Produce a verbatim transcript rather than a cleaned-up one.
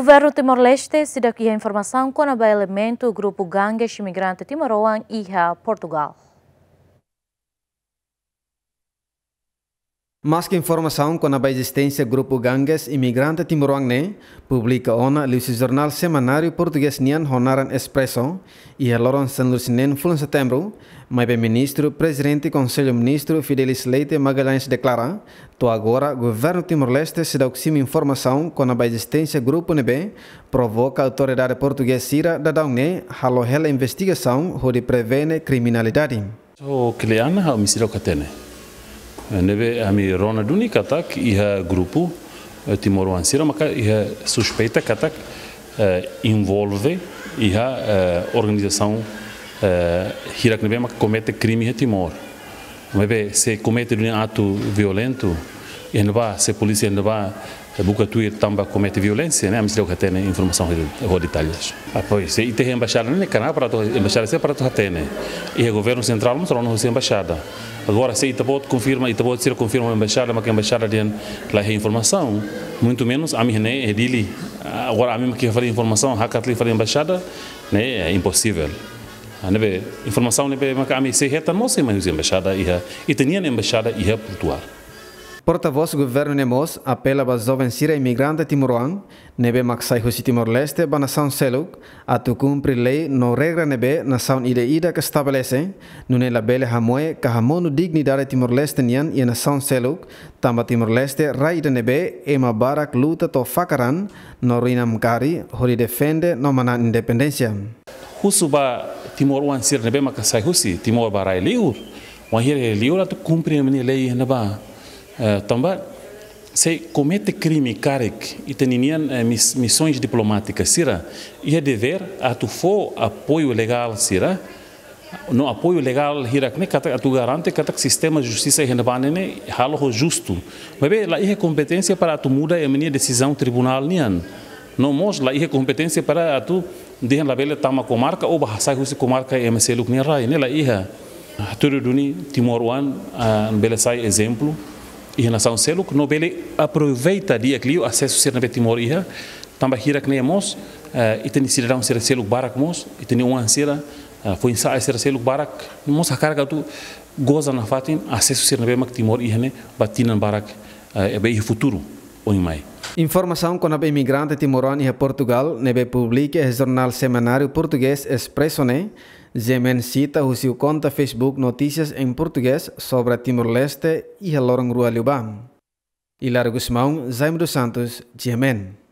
Governu Timor-Leste seidauk iha informasaun kona-ba elementu grupu Ganges imigrante timoroan iha Portugal. Maske informasaun kona-ba ezisténsia grupu Ganges imigrante timoroan ne'e publika ona liuhusi jornál semanáriu portugés nian ho naran Expresso, iha loron sanulu-resin-neen fulan Setembru, maibé Ministru Prezidente Konsellu Ministru Fidelis Leite Magalhães deklara, to'o agora Governu Timor-Leste seidauk simu informasaun kona-ba ezisténsia grupu ne'ebé provoka autoridade portugés sira daudaun ne'e halo hela investigasaun hodi prevene kriminalidade. Ho kle'an ha'u ami seidauk hatene. Eh, ne'ebé ami rona duni katak iha grupu, eh, timoroan sira maka iha suspeita katak, eh, envolve iha, eh, organizasaun, eh, hirak ne'ebé maka komete krime iha Timor. Maibé se komete duni atu violentu, iha ne'ebá, se polísia iha ne'ebá, eh, buka tuir tanba komete violénsia, ne'e ami seidauk hatene informasaun ho, ho detalles. Ah, pois, se ita iha embaixada ne'e, kana para atu, embaixada sira para atu hatene. Iha governu sentrál mós rona husi embaixada. Agora, se ita-boot konfirma, ita-boot sira konfirma embaixada, maka embaixada dehan la iha informasaun, muito menos ami ne'e iha Dili. Agora, ami mak fali informasaun, hakat liu fali embaixada, ne'e, eh, imposivel. Ah, ne'ebé, informasaun ne'ebé maka ami sei hetan mós sei mai husi embaixada iha, ita-nian embaixada iha Portugal. Portavós governu ne'e mós apela ba joven sira imigrante timoroan ne'ebé mak sai husi Timor-Leste ba nasaun seluk atu kumpre lei no regra ne'ebé nasaun ida-idak estabelese, nune'e labele hamoe ka hamonu dignidade Timor-Leste nian iha nasaun seluk, tanba Timor-Leste rai ida ne'ebé ema barak luta to'o fakar an no ruin namkari hodi defende no manán independénsia. Husu ba timoroan sira ne'ebé maka sai husi Timor ba rai liur, wainhira iha liur atu kumpre ema nia lei iha ne'ebá. Eh, tanba se komete krime karik, ita-nian, eh, mis-, misoens diplomátikas sira iha devér atu fó apoiu legál sira, no apoiu legál hirak ne'e katak atu garante katak sistema justisa iha ne'ebá ne'e halo ho justu. Maibé la iha kompeténsia para atu muda ema nia desizaun tribunál nian. No mós la iha kompeténsia para atu dehan labele tama komarka ou ba sai husi komarka ema seluk nia rai, ne'e la iha. Hatudu duni timoroan, ah, bele sai ezemplu iha nasaun seluk, no bele aproveita di'ak liu asesu sira ne'ebé Timor iha, tanba hirak ne'e mós, eh, ita-nia sidadaun sira seluk barak mós, ita-nia oan sira, eh, foin-sa'e sira seluk barak mós hakarak atu goza nafatin asesu sira ne'ebé mak Timor iha ne'e ba tinan barak, eh, ne'ebé iha futuru oin mai. Informasaun kona-ba imigrante timoroan iha Portugal ne'ebé publika iha jornál semanáriu portugés Expresso ne'e, G M N sita husi konta Facebook Notícias em Português sobre Timor-Leste iha loron rua liubá. Hilário Gusmão, Jaime dos Santos, G M N.